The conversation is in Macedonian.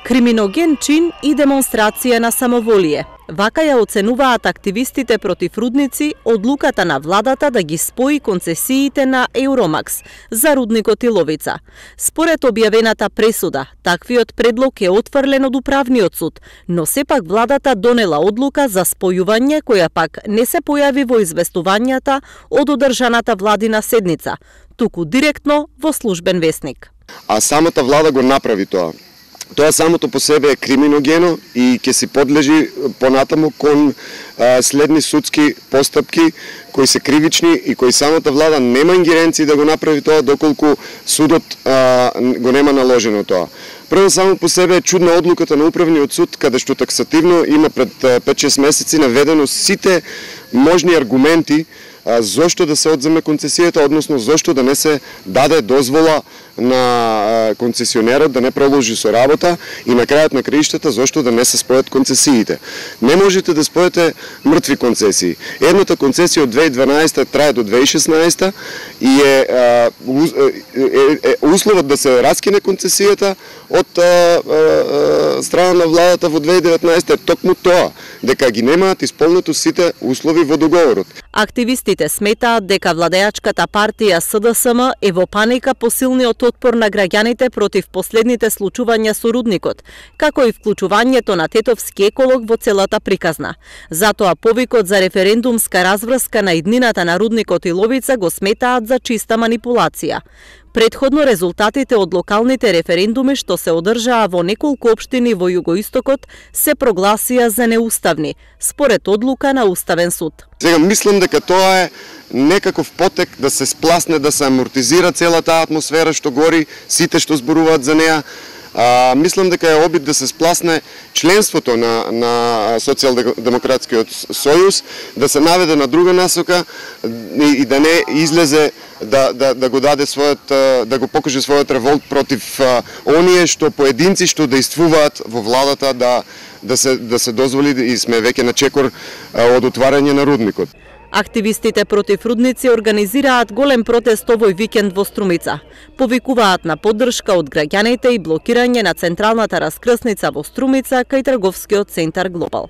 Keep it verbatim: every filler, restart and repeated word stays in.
Криминоген чин и демонстрација на самоволие. Вака ја оценуваат активистите против рудници одлуката на владата да ги спои концесиите на Евромакс за рудникот Иловица. Според објавената пресуда, таквиот предлог е отфрлен од управниот суд, но сепак владата донела одлука за спојување која пак не се појави во известувањата од одржаната владина седница, туку директно во службен весник. А самата влада го направи тоа. Тоа самото по себе е криминогено и ќе се подлежи понатаму кон а, следни судски постапки кои се кривични и кои самата влада нема ингеренции да го направи тоа доколку судот а, го нема наложено тоа. Прво само по себе е чудна одлуката на управниот суд каде што таксативно има пред пет-шест месеци наведено сите можни аргументи а, зошто да се одземе концесијата, односно зошто да не се даде дозвола на концесионерот да не продолжи со работа и на крајот на краиштата зошто да не се спојат концесиите. Не можете да спојате мртви концесии. Едната концесија од две илјади и дванаесета трае до две илјади и шеснаесета и е, е, е, е условот да се раскине концесијата од а, а, страна на владата во две илјади и деветнаесета е токму тоа, дека ги немаат исполнето сите услови во договорот. Активистите сметаат дека владеачката партија С Д С М е во паника по силниот отпор на граѓаните против последните случувања со рудникот, како и вклучувањето на тетовски еколог во целата приказна. Затоа повикот за референдумска разврска на иднината на рудникот Иловица го сметаат за чиста манипулација. Предходно резултатите од локалните референдуми што се одржаа во неколку општини во југоистокот се прогласија за неуставни, според одлука на Уставен суд. Сега мислам дека тоа е некаков потек да се спласне, да се амортизира целата атмосфера што гори, сите што зборуваат за неа. А, мислам дека е обид да се спласне членството на, на Социјалдемократскиот сојуз, да се наведе на друга насока и, и да не излезе да, да, да го даде својот, да го покаже својот револт против а, оние што поединци што действуваат во владата да, да, се, да се дозволи и сме веќе на чекор а, од отварање на рудникот. Активистите против рудници организираат голем протест овој викенд во Струмица. Повикуваат на поддршка од граѓаните и блокирање на централната раскрсница во Струмица кај трговскиот центар Глобал.